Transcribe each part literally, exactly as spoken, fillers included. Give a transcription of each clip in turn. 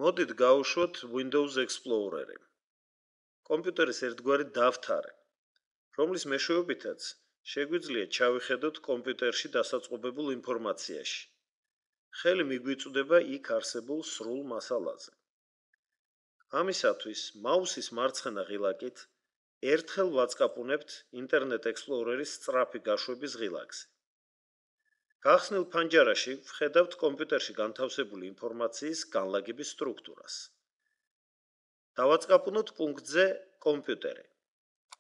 მოდით გავუშვოთ Windows Explorer-ი. კომპიუტერის ერთგვარი დავთარი, რომლის მეშვეობითაც შეგვიძლია ჩავიხედოთ კომპიუტერში დასაწყობებულ ინფორმაციაში. ხელი მიგვიწვდება იქ არსებულ სრულ მასალაზე. ამისათვის მაუსის მარცხენა ღილაკით ერთხელ ვაწყაპუნებთ Internet Explorer-ის სწრაფი გაშვების ღილაკზე. გახსნილ ფანჯარაში ვხედავთ კომპიუტერში განთავსებული ინფორმაციის განლაგების სტრუქტურას. დავაწყაპუნოთ პუნქტზე კომპიუტერი,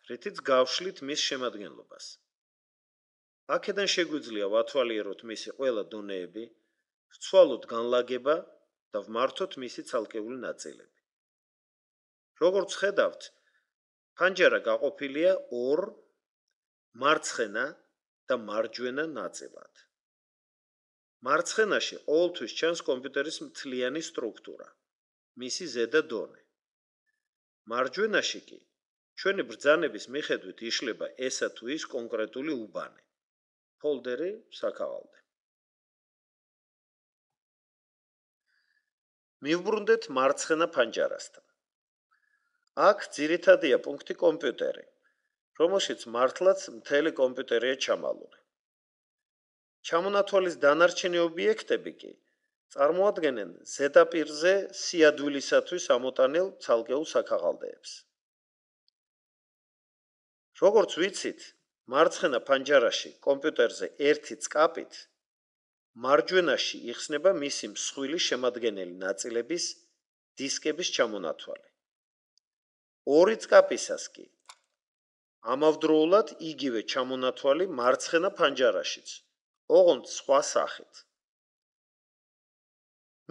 რითიც გავშლით მის შემადგენლობას. აქედან შეგვიძლია ვათვალიეროთ მისი ყველა დონეები, ვცვალოთ განლაგება და ვმართოთ მისი ცალკეული ნაწილები. როგორც ხედავთ, ფანჯარა გაყოფილია ორ მარცხენა და მარჯვენა ნაწილად. მარცხენაში ყოველთვის ჩანს კომპიუტერის მთლიანი სტრუქტურა, მისი ზედა დონე. მარჯვენაში კი ჩვენი ბრძანების მიხედვით იშლება ესა თუ ის კონკრეტული უბანი, ფოლდერი, საქაღალდე. მივბრუნდეთ მარცხენა ფანჯარასთან. აქ ძირითადია პუნქტი კომპიუტერი, რომელშიც მართლაც მთელი კომპიუტერია ჩამალული. ჩამონათვალის დანარჩენი ობიექტები კი წარმოადგენენ ზედაპირზე სიადვილისათვის ამოტანილ ცალკეულ საქაღალდეებს. როგორც ვიცით, მარცხენა ფანჯარაში კომპიუტერზე ერთი წკაპით მარჯვენაში იხსნება მისი მსხვილი შემადგენელი ნაწილების დისკების ჩამონათვალი. ორი წკაპისას კი ამავდროულად იგივე ჩამონათვალი მარცხენა ფანჯარაშიც, ოღონდ სხვა სახით.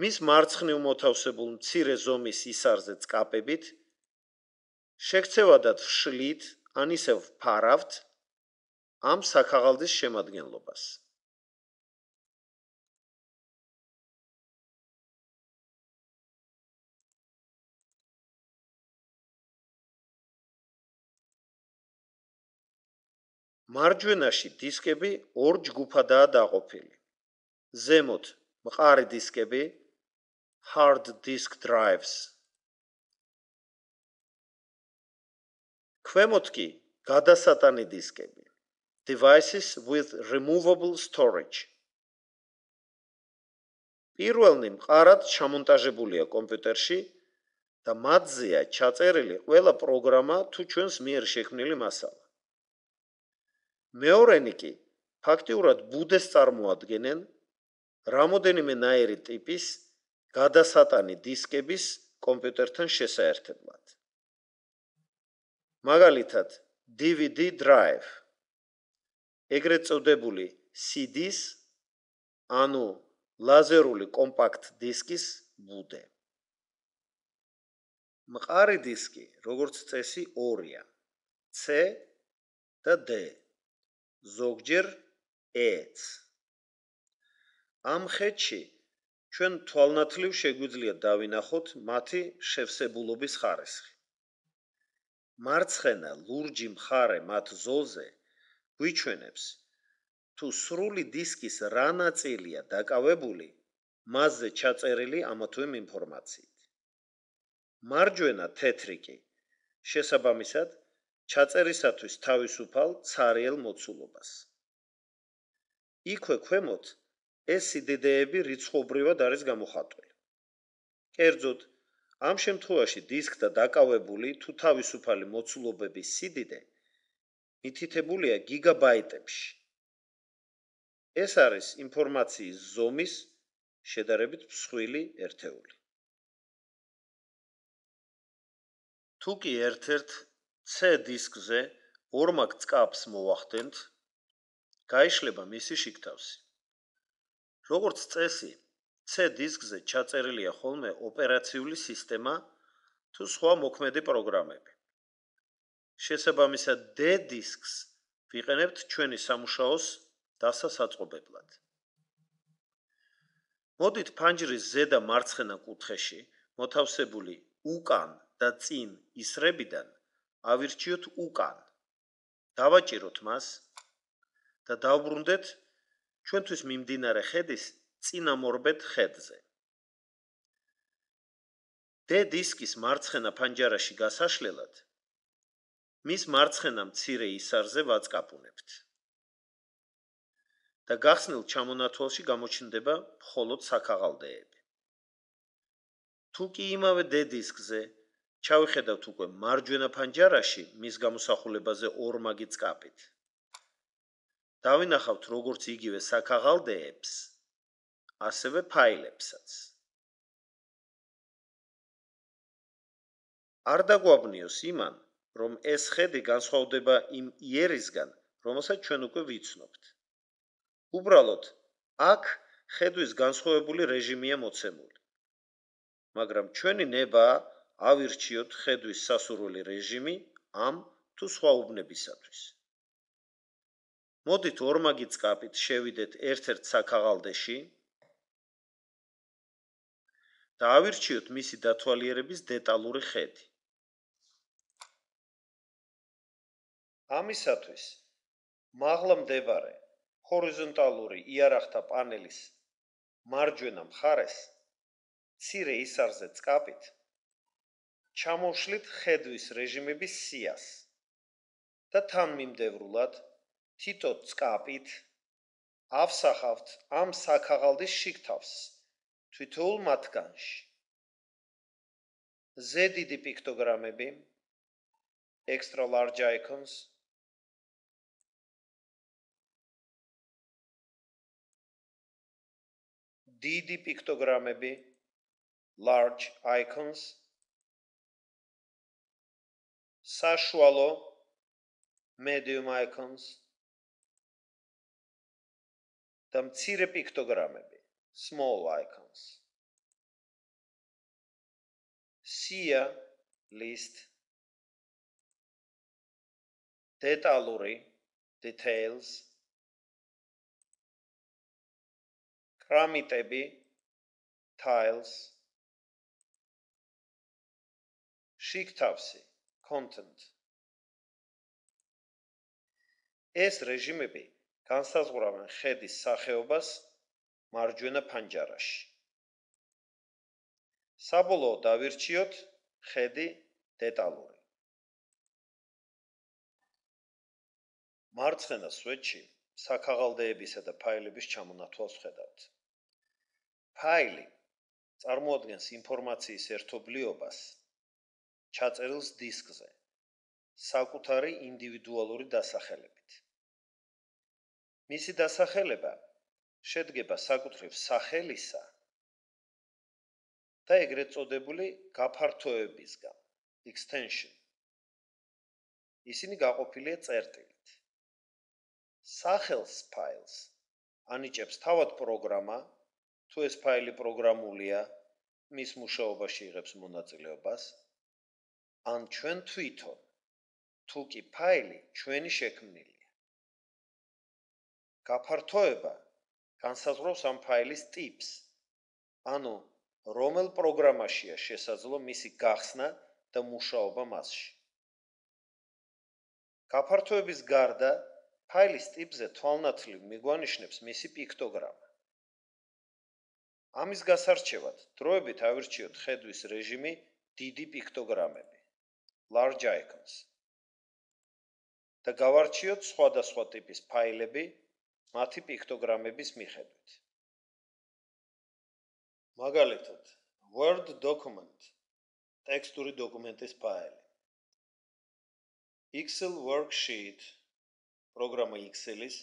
მის მარცხნივ მოთავსებულ მცირე ზომის ისარზე წკაპებით შეგცევადად ვშლით ან ისევ ვფარავთ ამ საქაღალდის შემადგენლობას. მარჯვენაში დისკები ორ ჯგუფადაა დაყოფილი. ზემოთ მყარი დისკები, hard disk drives. ქვემოთ კი გადასატანი დისკები, devices with removable storage. პირველნი მყარად ჩამონტაჟებულია კომპიუტერში და მათზეა ჩაწერილი ყველა პროგრამა თუ ჩვენს მიერ შექმნილი მასალა. მეორენი კი ფაქტიურად ბუდეს წარმოადგენენ რამოდენიმე ნაირი ტიპის გადასატანი დისკების კომპიუტერთან შესაერთებლად. მაგალითად, D V D drive, ეგრეთ წოდებული C D-ს, ანუ ლაზერული კომპაქტ დისკის ბუდე. მყარი დისკი, როგორც წესი, ორია, C და D, ზოგჯერ E-ც. ამ ხედში ჩვენ თვალნათლივ შეგვიძლია დავინახოთ მათი შევსებულობის ხარისხი. მარცხენა ლურჯი მხარე მათ ზოლზე გვიჩვენებს, თუ სრული დისკის რა ნაწილია დაკავებული მასზე ჩაწერილი ამა თუ იმ ინფორმაციით. მარჯვენა თეთრი კი შესაბამისად ჩაწერისათვის თავისუფალ ცარიელ მოცულობას. იქვე ქვემოთ ეს სიდიდეები რიცხობრივად არის გამოხატული. კერძოდ, ამ შემთხვევაში დისკთა დაკავებული თუ თავისუფალი მოცულობების სიდიდე მითითებულია გიგაბაიტებში. ეს არის ინფორმაციის ზომის შედარებით მსხვილი ერთეული. თუ კი ერთ-ერთ C დისკზე ორმაგ წკაპს მოვახდენთ, გაიშლება მისი შიგთავსი. როგორც წესი, C დისკზე ჩაწერილია ხოლმე ოპერაციული სისტემა თუ სხვა მოქმედი პროგრამები. შესაბამისად, D დისკს ვიყენებთ ჩვენი სამუშაოს დასასაწყობებლად. მოდით ფანჯრის ზედა მარცხენა კუთხეში მოთავსებული უკან და წინ ისრებიდან ავირჩიოთ უკან. დავაჭიროთ მას და დავბრუნდეთ ჩვენთვის მიმდინარე ხედის წინამორბედ ხედზე. D დისკის მარცხენა ფანჯარაში გასაშლელად მის მარცხენა მცირე ისარზე ვაწკაპუნებთ და გახსნილ ჩამონათვალში გამოჩნდება მხოლოდ საქაღალდეები. თუ კი იმავე D დისკზე ჩავიხედავთ უკვე მარჯვენა ფანჯარაში მის გამოსახულებაზე ორმაგი წკაპით. დავინახავთ როგორც იგივე საქაღალდეებს, ასევე ფაილებსაც. არ დაგვაბნიოს იმან, რომ ეს ხედი განსხვავდება იმ იერისგან, რომელსაც ჩვენ უკვე ვიცნობთ. უბრალოდ, აქ ხედვის განსხვავებული რეჟიმია მოცემული. მაგრამ ჩვენი ნება ავირჩიოთ ხედვის სასურველი რეჟიმი ამ თუ სხვა უბნებისათვის. მოდით ორმაგი წკაპით შევიდეთ ერთ-ერთ საქაღალდეში და ავირჩიოთ მისი დათვალიერების დეტალური ხედი. ამისათვის მაღლა მდებარე ჰორიზონტალური იარაღთა პანელის მარჯვენა მხარეს მცირე ისარზე წკაპით ჩამოვშლით ხედვის რეჟიმების სიას და თანმიმდევრულად თითო წკაპით ავსახავთ ამ საქაღალდის შიგთავს თითოეულ მათგანში. Z დიდი პიქტოგრამები, extra large icons, დიდი პიქტოგრამები, large icons, საშუალო, medium icons და მცირე პიქტოგრამები, small icons. სია, list, დეტალური, details, კრამიტები, tiles, შიგთავსი, content. ეს რეჟიმები განსაზღვრავენ ხედის სახეობას მარჯვენა ფანჯარაში. საბოლოოდ დავირჩიოთ ხედი დეტალური. მარცხენა სვეტში საქაღალდეებისა და ფაილების ჩამონათვალს ვხედავთ. ფაილი წარმოადგენს ინფორმაციის ერთობლიობას ჩაწერილს დისკზე საკუთარი ინდივიდუალური დასახელებით. მისი დასახელება შედგება საკუთრივ სახელისა და ეგრეთ წოდებული გაფართოებისგან, extension. ისინი გაყოფილია წერტილით. სახელს ფაილს ანიჭებს თავად პროგრამა, თუ ეს ფაილი პროგრამულია, მის მუშაობაში იღებს მონაწილეობას, ან ჩვენ თვითონ, თუ კი ფაილი ჩვენი შექმნილია. გაფართოება განსაზღვრავს ამ ფაილის ტიპს, ანუ რომელ პროგრამაშია შესაძლო მისი გახსნა და მუშაობა მასში. გაფართოების გარდა ფაილის ტიპზე თვალნათლივ მიგვანიშნებს მისი პიქტოგრამა. ამის გასარჩევად დროებით ავირჩიოთ ხედვის რეჟიმი დიდი პიქტოგრამები, large icons. და გავარჩიოთ სხვადასხვა ტიპის ფაილები მათი პიქტოგრამების მიხედვით. მაგალითად, Word document, ტექსტური დოკუმენტის ფაილი. Excel worksheet, პროგრამა Excel-ის,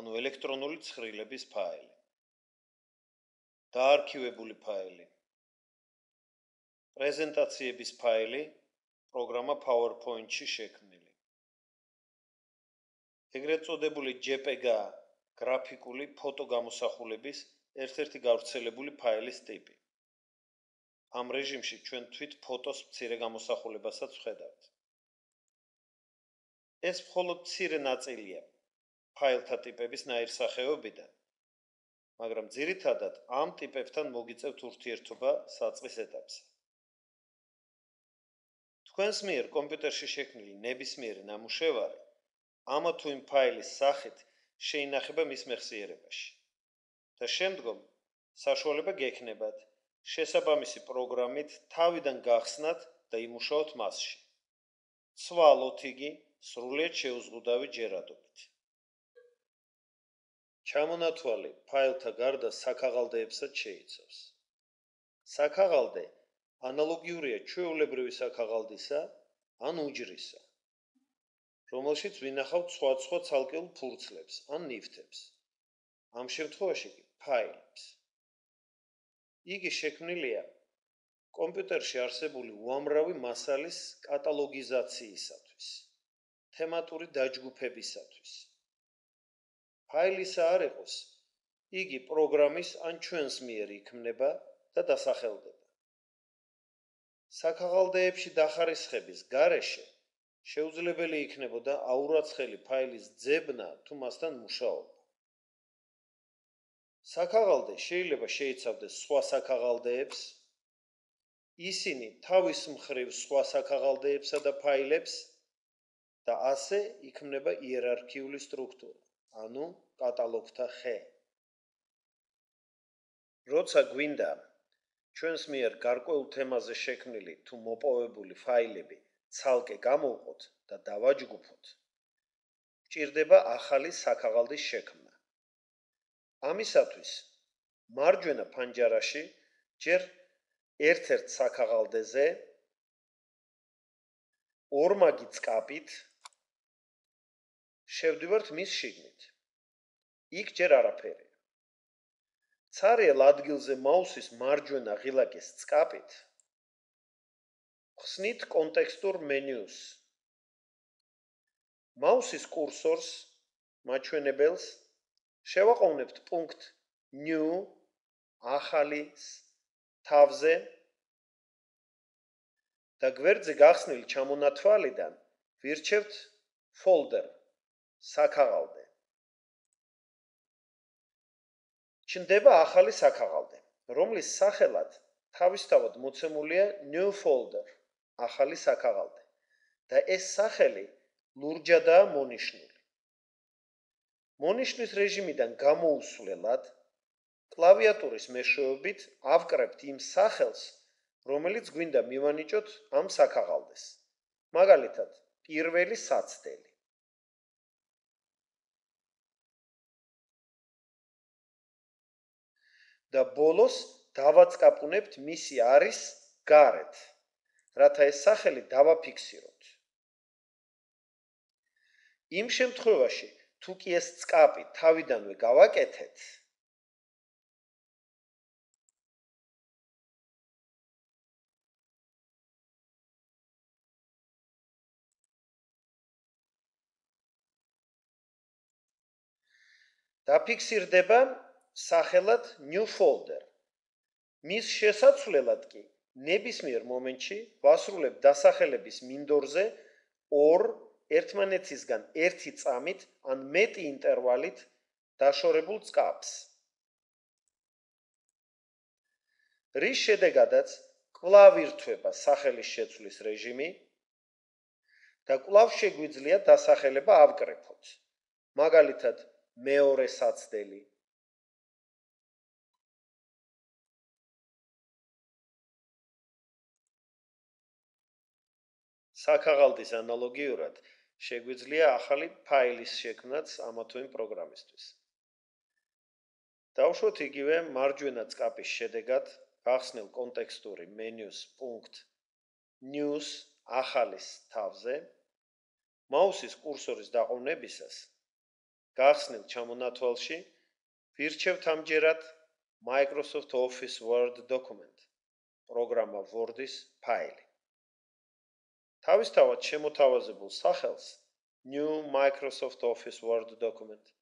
ანუ ელექტრონული ცხრილების ფაილი. დაარქივებული ფაილი. პრეზენტაციების ფაილი, პროგრამა PowerPoint-ში შექმნილი. ეგრეთ წოდებული JPEG გრაფიკული ფოტო გამოსახულების ერთ-ერთი გავრცელებული ფაილის ტიპი. ამ რეჟიმში ჩვენ თვით ფოტოს მცირე გამოსახულებასაც ვხედავთ. ეს მხოლოდ მცირე ნაწილია ფაილთა ტიპების ნაირსახეობიდან, მაგრამ ძირითადად ამ ტიპებთან მოგიწევთ ურთიერთობა საწყის ეტაპზე. თქვენს მიერ კომპიუტერში შექმნილი ნებისმიერი ნამუშევარი ამა თუ იმ ფაილის სახით შეინახება მის მეხსიერებაში და შემდგომ საშუალება გექნებათ შესაბამისი პროგრამით თავიდან გახსნათ და იმუშაოთ მასში. ცვალოთ იგი სრულიად შეუზღუდავი ჯერადობით. ჩამონათვალი ფაილთა გარდა საქაღალდეებსაც შეიცავს. საქაღალდე ანალოგიურია ჩვეულებრივი საქაღალდისა ან უჯრისა, რომელშიც ვინახავთ სხვადასხვა ცალკეულ ფურცლებს ან ნივთებს. ამ შემთხვევაში კი ფაილებს. იგი შექმნილია კომპიუტერში არსებული უამრავი მასალის კატალოგიზაციისათვის, თემატური დაჯგუფებისათვის. ფაილისა არ იყოს, იგი პროგრამის ან ჩვენს მიერ იქმნება და დასახელდება. საქაღალდეებში დახარისხების გარეშე შეუძლებელი იქნებოდა აურაცხელი ფაილის ძებნა თუ მასთან მუშაობა. საქაღალდე შეიძლება შეიცავდეს სხვა საქაღალდეებს, ისინი თავის მხრივ სხვა საქაღალდეებსა და ფაილებს და ასე იქმნება იერარქიული სტრუქტურა, ანუ კატალოგთა ხე. როცა გვინდა ჩვენს მიერ გარკვეულ თემაზე შექმნილი თუ მოპოვებული ფაილები ცალკე გამოვყოთ და დავაჯგუფოთ, გვჭირდება ახალი საქაღალდის შექმნა. ამისათვის მარჯვენა ფანჯარაში ჯერ ერთ-ერთ საქაღალდეზე ორმაგი წკაპით შევდივართ მის შიგნით. იქ ჯერ არაფერია. ცარიელ ადგილზე მაუსის მარჯვენა ღილაკის წკაპით ხსნით კონტექსტურ მენიუს. მაუსის კურსორს მაჩვენებელს შევაყოვნებთ პუნქტ new ახალის თავზე და გვერდზე გახსნილი ჩამონათვალიდან ვირჩევთ folder საქაღალდე. ჩნდება ახალი საქაღალდე, რომლის სახელად თავისთავად მოცემულია new folder ახალი საქაღალდე და ეს სახელი ლურჯადაა მონიშნული. მონიშნის რეჟიმიდან გამოუსვლელად კლავიატურის მეშვეობით ავკრებთ იმ სახელს, რომელიც გვინდა მივანიჭოთ ამ საქაღალდეს. მაგალითად, პირველი საცდელი. და ბოლოს დავაწყაპუნებთ მისი არის გარეთ, რათა ეს სახელი დავაფიქსიროთ. იმ შემთხვევაში, თუ კი ეს წკაპი თავიდანვე გავაკეთეთ, დაფიქსირდება სახელად new folder. მის შესაცვლელად კი ნებისმიერ მომენტში ვასრულებ დასახელების მინდორზე ორ ერთმანეთისგან ერთი წამით ან მეტი ინტერვალით დაშორებულ წკაპს. რის შედეგადაც კვლავ ირთვება სახელის შეცვლის რეჟიმი და კვლავ შეგვიძლია დასახელება ავკრეფოთ. მაგალითად, მეორე საცდელი. საქაღალდის ანალოგიურად შეგვიძლია ახალი ფაილის შექმნაც ამა თუ იმ პროგრამისთვის. დავუშვოთ იგივე მარჯვენა წკაპის შედეგად გახსნილ კონტექსტური მენიუს პუნქტ news ახალის თავზე, მაუსის კურსორის დაყოვნებისას გახსნილ ჩამონათვალში ვირჩევთ ამჯერად Microsoft Office Word document, პროგრამა Word-ის ფაილი. თავისთავად შემოთავაზებულ სახელს New Microsoft Office Word document,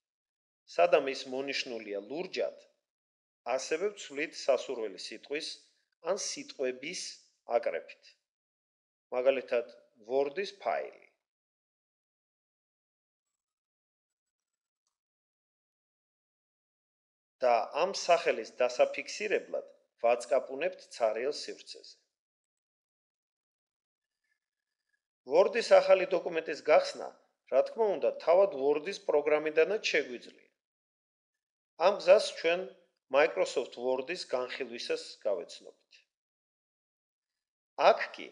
სადამ ის მონიშნულია ლურჯად, ასევე ვცვლით სასურველი სიტყვის ან სიტყვების აკრეფით. მაგალითად, Word-ის ფაილი. და ამ სახელის დასაფიქსირებლად ვაწყაპუნებთ ცარიელ სივრცეზე. Word-ის ახალი დოკუმენტის გახსნა, რა თქმა უნდა, თავად Word-ის პროგრამიდანაც შეგვიძლია. ამ გზას ჩვენ Microsoft Word-ის განხილვისას გავეცნობით. აქ კი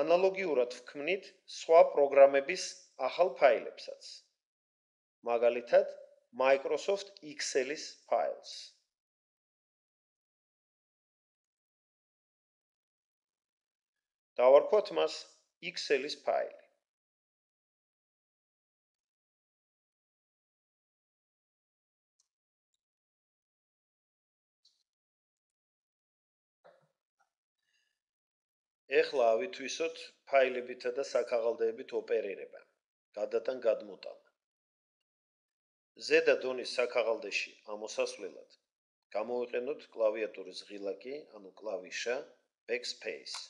ანალოგიურად ვქმნით სხვა პროგრამების ახალ ფაილებსაც. მაგალითად, Microsoft Excel-ის ფაილს. დავარქვათ მას Excel-ის ფაილი. ეხლა ავითვისოთ ფაილებითა და საქაღალდეებით ოპერირება, გადატან გადმოტანა. ზედა დონის საქაღალდეში ამოსასვლელად გამოვიყენოთ კლავიატურის ღილაკი, ანუ კლავიშა Backspace.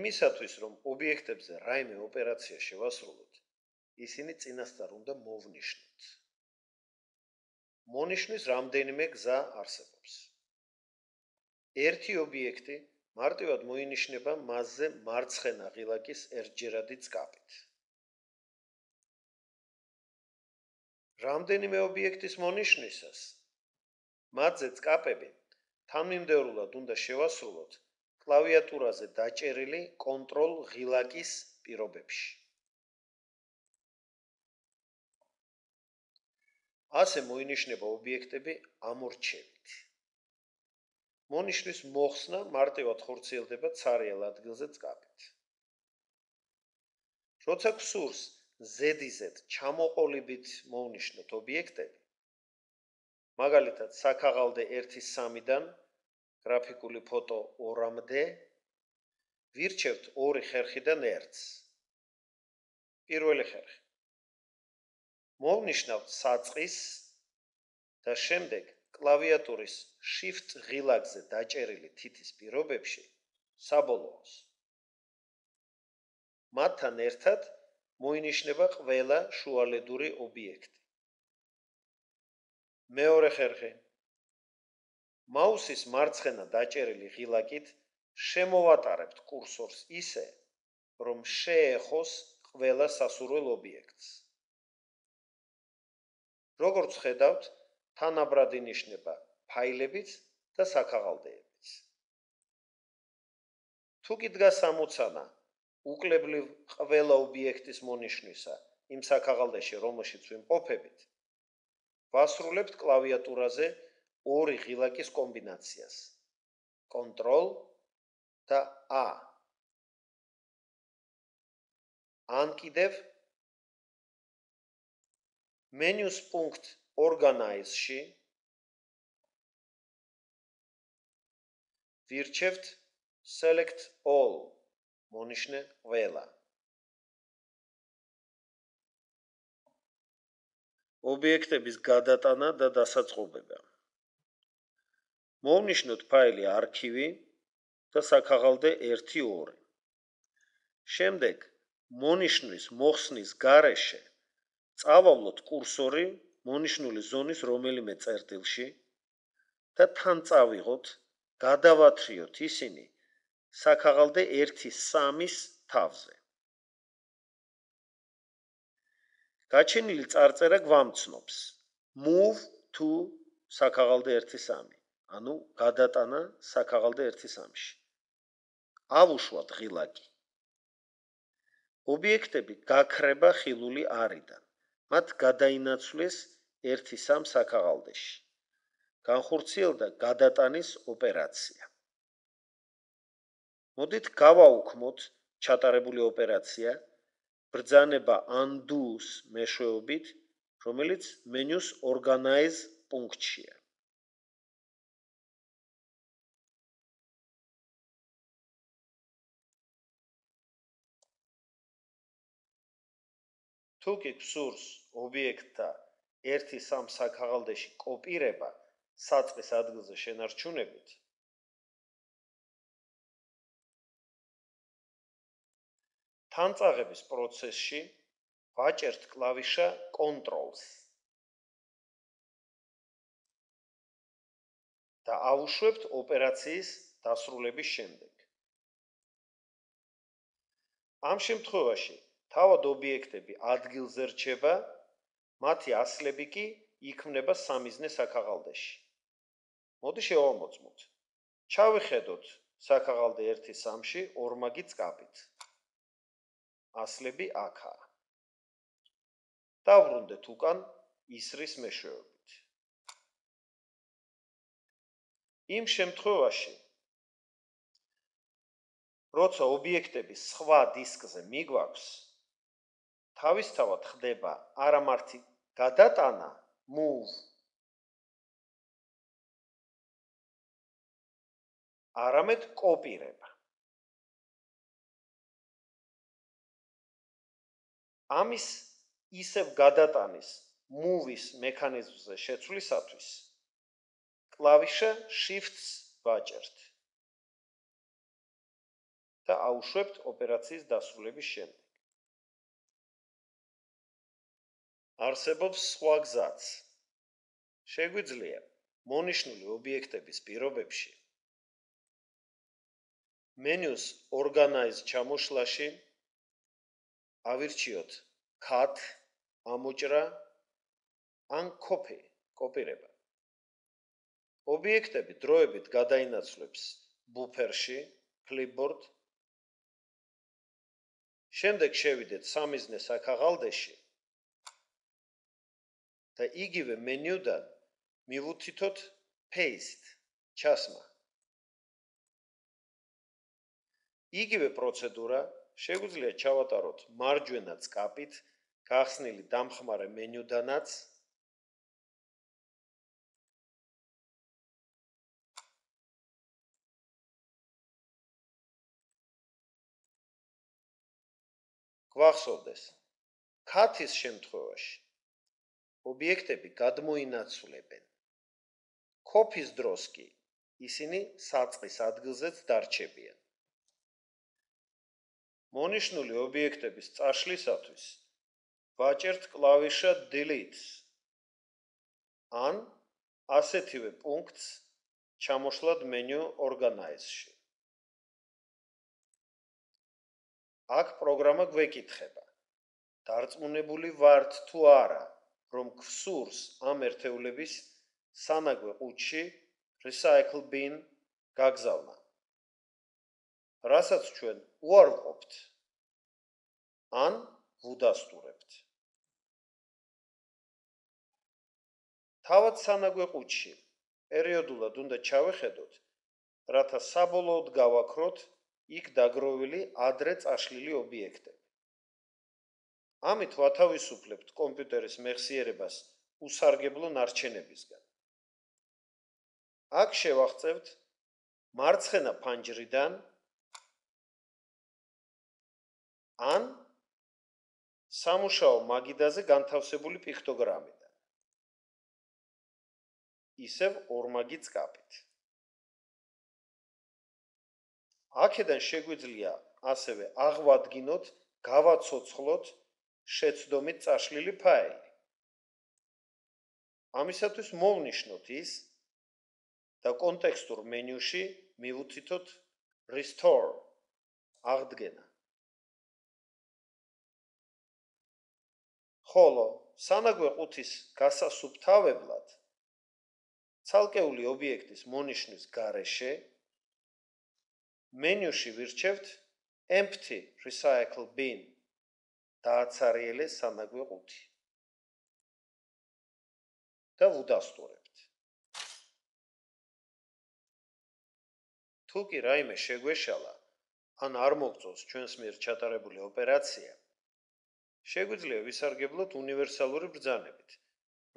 იმისათვის, რომ ობიექტებზე რაიმე ოპერაცია შევასრულოთ, ისინი წინასწარ უნდა მოვნიშნოთ. მონიშნვის რამდენიმე გზა არსებობს. ერთი ობიექტი მარტივად მოინიშნება მასზე მარცხენა ღილაკის ერთჯერადი წკაპით. რამდენიმე ობიექტის მონიშნვისას მათზე წკაპები თანმიმდევრულად უნდა შევასრულოთ კლავიატურაზე დაჭერილი კონტროლ ღილაკის პირობებში. ასე მოინიშნება ობიექტები ამორჩევით. მონიშნვის მოხსნა მარტივად ხორციელდება ცარიელ ადგილზე წკაპით. როცა გსურს ზედიზედ ჩამოყოლიბით მოვნიშნოთ ობიექტები, მაგალითად საქაღალდე ერთი სამიდან გრაფიკული ფოტო ორამდე, ვირჩევთ ორი ხერხიდან ერთს. პირველი ხერხი. მოვნიშნავთ საწყის და შემდეგ კლავიატურის Shift ღილაკზე დაჭერილი თითის პირობებში საბოლოოს. მათთან ერთად მოინიშნება ყველა შუალედური ობიექტი. მეორე ხერხი. მაუსის მარცხენა დაჭერილი ღილაკით შემოვატარებთ კურსორს ისე, რომ შეეხოს ყველა სასურველ ობიექტს. როგორც ხედავთ, თანაბრად ინიშნება ფაილებიც და საქაღალდეებიც. თუ კი დგას ამოცანა უკლებლივ ყველა ობიექტის მონიშნვისა იმ საქაღალდეში, რომელშიც ვიმყოფებით, ვასრულებთ კლავიატურაზე ორი ღილაკის კომბინაციას. Control და A. ან კიდევ menus punkt Organize-ში ვირჩევთ Select All, მონიშნე ყველა. ობიექტების გადატანა და დასაწყობება. მოვნიშნოთ ფაილი არქივი და საქაღალდე ერთი ორი. შემდეგ მონიშნვის მოხსნის გარეშე წავავლოთ კურსორი მონიშნული ზონის რომელიმე წერტილში და თან წავიღოთ, გადავათრიოთ ისინი საქაღალდე ერთი სამის თავზე. გაჩენილი წარწერა გვამცნობს Move to საქაღალდე ერთი სამი, ანუ გადატანა საქაღალდე ერთი სამში. ავუშვათ ღილაკი. ობიექტები გაქრება ხილული არიდან. მათ გადაინაცვლეს ერთი სამ საქაღალდეში. განხორციელდა გადატანის ოპერაცია. მოდით გავაუქმოთ ჩატარებული ოპერაცია ბრძანება undo-ს მეშვეობით, რომელიც menus Organize პუნქტშია. თუ კი გსურს ობიექტთა ერთი სამ საქაღალდეში კოპირება საწყის ადგილზე შენარჩუნებით, თანწაღების პროცესში ვაჭერთ კლავიშა Controls და ავუშვებთ ოპერაციის დასრულების შემდეგ. ამ შემთხვევაში თავად ობიექტები ადგილზე რჩება, მათი ასლები კი იქმნება სამიზნე საქაღალდეში. მოდი შევამოწმოთ. ჩავიხედოთ საქაღალდე ერთი სამში ორმაგი წყაბით. ასლები აქაა. დავბრუნდეთ უკან ისრის მეშვეობით. იმ შემთხვევაში, როცა ობიექტები სხვა დისკზე მიგვაქვს, თავისთავად ხდება არა მარტი გადატანა, move, არამედ კოპირება. ამის ისევ გადატანის move-ის მექანიზმზე შეცვლისათვის კლავიშა shift-ს ვაჭერთ და აუშვებთ ოპერაციის დასრულების შემდეგ. არსებობს სხვა გზაც. შეგვიძლია მონიშნული ობიექტების პირობებში მენიუს organize ჩამოშლაში ავირჩიოთ cut, ამოჭრა ან copy, კოპირება. ობიექტები დროებით გადაინაცვლებს ბუფერში, clipboard. შემდეგ შევიდეთ სამიზნე საქაღალდეში და იგივე მენიუდან მივუთითოთ paste, ჩასმა. იგივე პროცედურა შეგვიძლია ჩავატაროთ მარჯვენა წყაბით გახსნილი დამხმარე მენიუდანაც. გვახსოვდეს, cut-ის შემთხვევაში ობიექტები გადმოინაცვლებენ. copy-ის დროს კი ისინი საწყის ადგილზეც დარჩებიან. მონიშნული ობიექტების წაშლისათვის ვაჭერთ კლავიშა delete-ს ან ასეთივე პუნქტს ჩამოშლად menu organize-ში. აქ პროგრამა გვეკითხება, დარწმუნებული ვართ თუ არა, რომ გვსურს ამ ერთეულების სანაგვე ყუთში recycle bin გაგზავნა. რასაც ჩვენ უარყოფთ ან ვუდასტურებთ. თავად სანაგვე ყუთში პერიოდულად უნდა ჩავეხედოთ, რათა საბოლოოდ გავაქროთ იქ დაგროვილი ადრე წაშლილი ობიექტები. ამით ვათავისუფლებთ კომპიუტერის მეხსიერებას უსარგებლო ნარჩენებისგან. აქ შევაღწევთ მარცხენა ფანჯრიდან ან სამუშაო მაგიდაზე განთავსებული პიქტოგრამიდან. ისევ ორმაგი წყაბით. აქედან შეგვიძლია ასევე აღვადგინოთ, გავაცოცხლოთ შეცდომით წაშლილი ფაილი. ამისათვის მოვნიშნოთ ის და კონტექსტურ მენიუში მივუთითოთ restore, აღდგენა. ხოლო სანაგვე ყუთის გასასუფთავებლად ცალკეული ობიექტის მონიშნვის გარეშე მენიუში ვირჩევთ empty recycle bin დააცარიელე სანაგვე ყუთი და ვუდასტურებთ. თუ კი რაიმე შეგვეშალა ან არ მოგწონს ჩვენს მიერ ჩატარებული ოპერაცია, შეგვიძლია ვისარგებლოთ უნივერსალური ბრძანებით,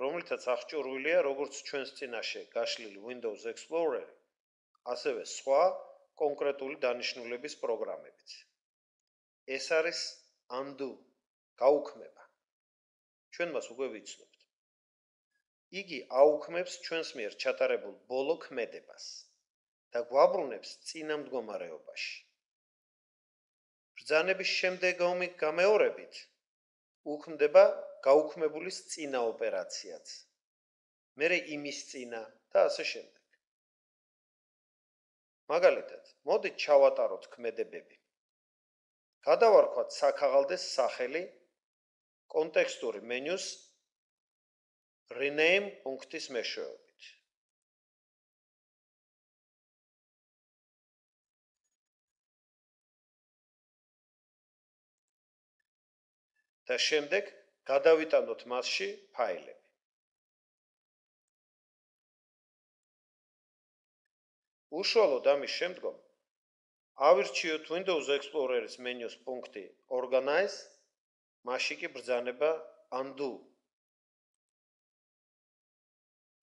რომლითაც აღჭურვილია როგორც ჩვენს წინაშე გაშლილი Windows Explorer-ი, ასევე სხვა კონკრეტული დანიშნულების პროგრამებიც. ეს არის undo, გაუქმება. ჩვენ მას უკვე ვიცნობთ. იგი აუქმებს ჩვენს მიერ ჩატარებულ ბოლო ქმედებას და გვაბრუნებს წინა მდგომარეობაში. ბრძანების შემდეგი გამეორებით უქმდება გაუქმებულის წინა ოპერაციაც. მერე იმის წინა და ასე შემდეგ. მაგალითად, მოდით ჩავატაროთ ქმედებები. გადავარქვათ საქაღალდეს სახელი კონტექსტური მენიუს rename პუნქტის მეშვეობით. და შემდეგ გადავიტანოთ მასში ფაილები. უშუალოდ ამის შემდგომ ავირჩიოთ Windows Explorer-ის მენიუს პუნქტი Organize, მასში კი ბრძანება Undo.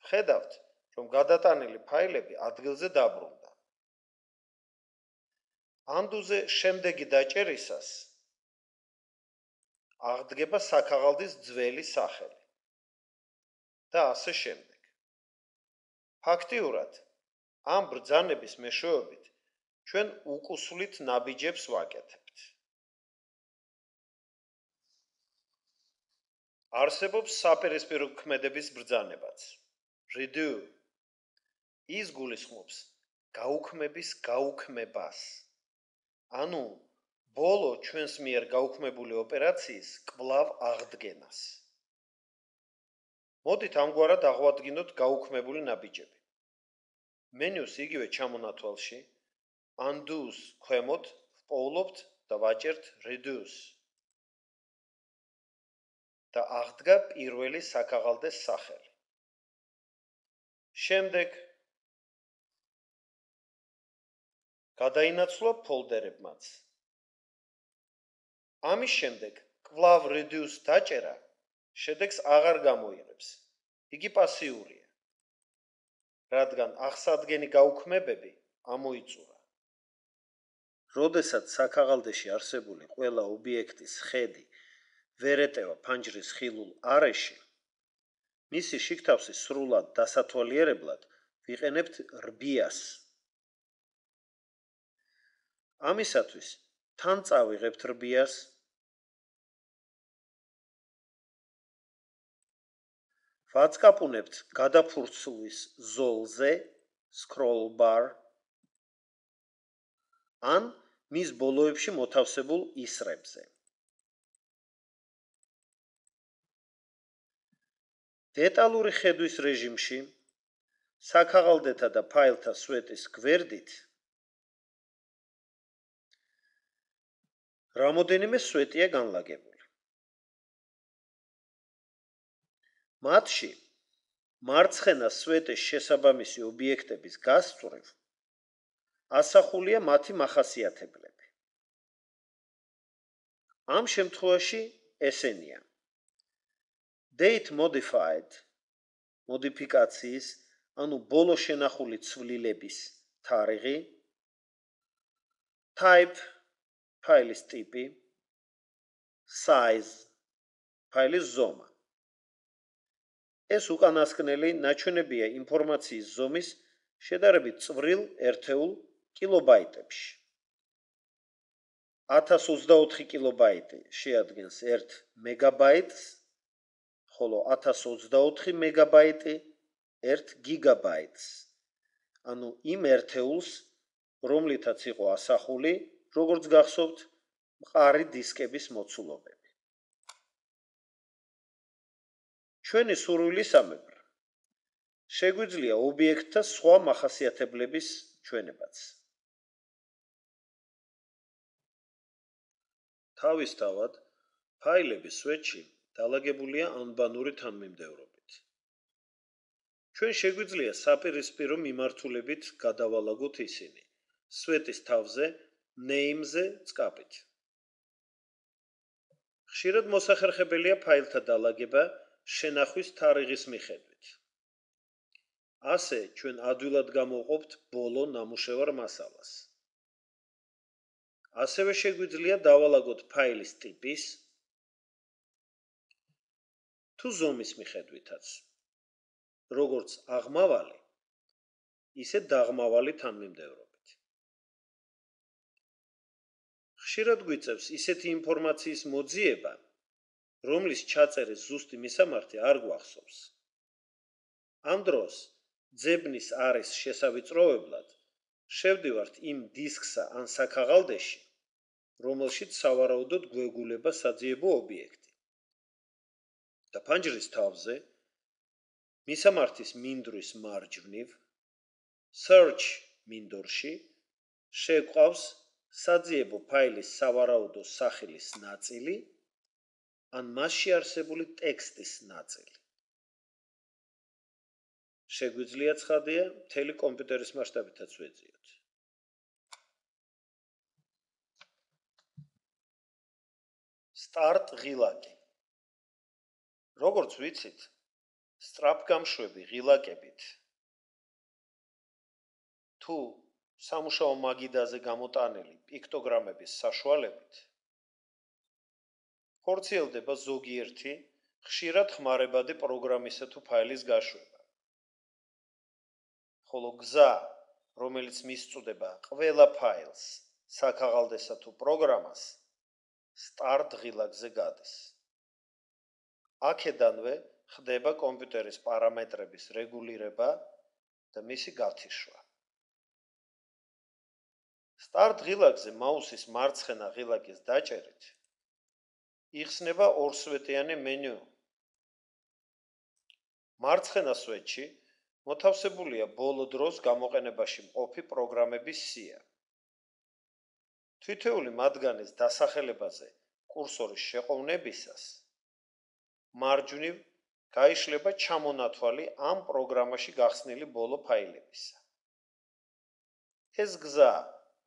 ხედავთ, რომ გადატანილი ფაილები ადგილზე დაბრუნდა. Undo-ზე შემდეგი დაჭერისას აღდგება საქაღალდის ძველი სახელი და ასე შემდეგ. ფაქტიურად, ამ ბრძანების მეშვეობით ჩვენ უკუსვლით ნაბიჯებს ვაკეთებთ. არსებობს საპირისპირო ქმედების ბრძანებაც. Redo ის გულისხმობს გაუქმების გაუქმებას. ანუ ბოლო ჩვენს მიერ გაუქმებული ოპერაციის კვლავ აღდგენას. მოდით ამგვარად აღვადგინოთ გაუქმებული ნაბიჯები. მენიუს იგივე ჩამონათვალში Undo-ს ქვემოთ ვპოვლობთ და ვაჭერთ Reduce. და აღდგა პირველი საქაღალდეს სახელი. შემდეგ გადაინაცვლა ფოლდერებმაც. ამის შემდეგ კვლავ Reduce დაჭერა შედეგს აღარ გამოიღებს. იგი პასიურია. რადგან აღსადგენი გაუქმებები ამოიწურა. როდესაც საქაღალდეში არსებული ყველა ობიექტის ხედი ვერ ეტევა ფანჯრის ხილულ არეში, მისი შიგთავსი სრულად დასათვალიერებლად ვიყენებთ რბიას. ამისათვის თან წავიღებთ რბიას, ვაწკაპუნებთ გადაფურცლის ზოლზე scroll bar ან მის ბოლოებში მოთავსებულ ისრებზე. დეტალური ხედვის რეჟიმში საქაღალდეთა და ფაილთა სვეტის გვერდით რამოდენიმე სვეტია განლაგებული. მათში მარცხენა სვეტის შესაბამისი ობიექტების გასწვრივ ასახულია მათი მახასიათებლები. ამ შემთხვევაში ესენია: date modified მოდიფიკაციის, ანუ ბოლო შენახული ცვლილების თარიღი, type ფაილის ტიპი, size ფაილის ზომა. ეს უკანასკნელი ნაჩვენებია ინფორმაციის ზომის შედარებით წვრილ ერთეულ კილობაიტებში. ათას ოცდაოთხი კილობაიტი შეადგენს ერთ მეგაბაიტს, ხოლო ათას ოცდაოთხი მეგაბაიტი ერთ გიგაბაიტს, ანუ იმ ერთეულს, რომლითაც იყო ასახული, როგორც გახსოვთ, მყარი დისკების მოცულობები. ჩვენი სურვილისამებრ შეგვიძლია ობიექტთა სხვა მახასიათებლების ჩვენებაც. თავისთავად, ფაილების სვეტში დალაგებულია ანბანური თანმიმდევრობით. ჩვენ შეგვიძლია საპირისპირო მიმართულებით გადავალაგოთ ისინი სვეტის თავზე name-ზე წკაპით. ხშირად მოსახერხებელია ფაილთა დალაგება შენახვის თარიღის მიხედვით. ასე ჩვენ ადვილად გამოვყოფთ ბოლო ნამუშევარ მასალას. ასევე შეგვიძლია დავალაგოთ ფაილის ტიპის თუ ზომის მიხედვითაც, როგორც აღმავალი, ისე დაღმავალი თანმიმდევრობით. ხშირად გვიწევს ისეთი ინფორმაციის მოძიება, რომლის ჩაწერის ზუსტი მისამართი არ გვახსოვს. ამ დროს ძებნის არის შესავიწროებლად შევდივართ იმ დისკსა ან საქაღალდეში, რომელშიც სავარაუდოდ გვეგულება საძიებო ობიექტი. და ფანჯრის თავზე მისამართის მინდვრის მარჯვნივ, search მინდორში შეგვყავს საძიებო ფაილის სავარაუდო სახელის ნაწილი ან მასში არსებული ტექსტის ნაწილი. შეგვიძლია ცხადია, მთელი კომპიუტერის მასშტაბითაც ვეძიოთ. Start ღილაკი. როგორც ვიცით, სწრაფგამშვები ღილაკებით თუ სამუშაო მაგიდაზე გამოტანილი პიქტოგრამების საშუალებით ხორციელდება ზოგიერთი ხშირად ხმარებადი პროგრამისა თუ ფაილის გაშვება. ხოლო გზა, რომელიც მისწვდება ყველა ფაილს, საქაღალდესა თუ პროგრამას, start ღილაკზე გადის. აქედანვე ხდება კომპიუტერის პარამეტრების რეგულირება და მისი გათიშვა. Start ღილაკზე მაუსის მარცხენა ღილაკის დაჭერით იხსნება ორსვეტიანი მენიუ. მარცხენა სვეტში მოთავსებულია ბოლო დროს გამოყენებაში მყოფი პროგრამების სია. თითოეული მათგანის დასახელებაზე კურსორის შეყოვნებისას მარჯვნივ გაიშლება ჩამონათვალი ამ პროგრამაში გახსნილი ბოლო ფაილებისა. ეს გზა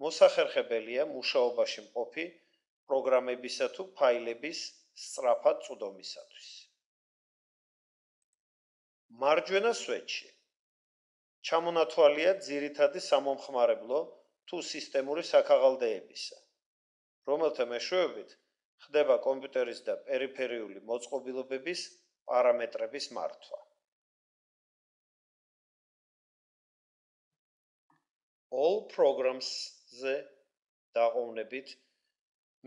მოსახერხებელია მუშაობაში მყოფი პროგრამებისა თუ ფაილების სწრაფად წვდომისათვის. მარჯვენა სვეტში ჩამონათვალია ძირითადი სამომხმარებლო თუ სისტემური საქაღალდეებისა, რომელთა მეშვეობით ხდება კომპიუტერის და პერიფერიული მოწყობილობების პარამეტრების მართვა. All programs-ზე დაყოვნებით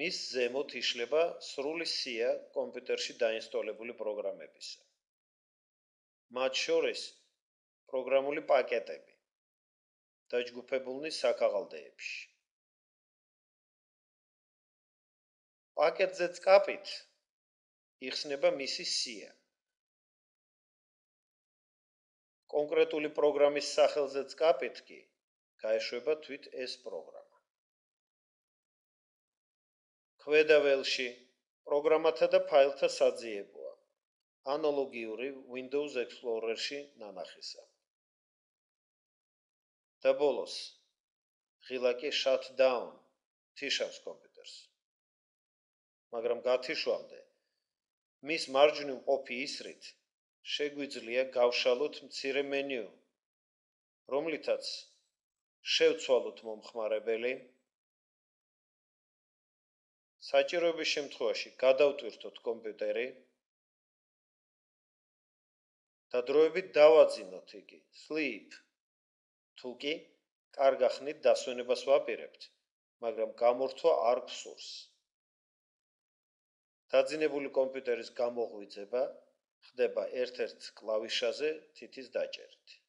მის ზემოთ იშლება სრული სია კომპიუტერში დაინსტოლებული პროგრამებისა. მათ შორის პროგრამული პაკეტები დაჯგუფებულნი საქაღალდეებში. პაკეტზე წკაპით იხსნება მისი სია. კონკრეტული პროგრამის სახელზე წკაპით კი გაეშვება თვით ეს პროგრამა. ქვედა ველში პროგრამათა და ფაილთა საძიებოა, ანალოგიური Windows Explorer-ში ნანახისა. და ბოლოს ღილაკი shutdown თიშავს კომპიუტერს. მაგრამ გათიშვამდე მის მარჯვნივ მყოფი ისრით შეგვიძლია გავშალოთ მცირე მენიუ, რომლითაც შევცვალოთ მომხმარებელი, საჭიროების შემთხვევაში გადავტვირთოთ კომპიუტერი და დროებით დავაძინოთ იგი sleep, თუ კი კარგ ახნით დასვენებას ვაპირებთ, მაგრამ გამორთვა არ გსურს. დაძინებული კომპიუტერის გამოღვიძება ხდება ერთ-ერთ კლავიშაზე თითის დაჭერით.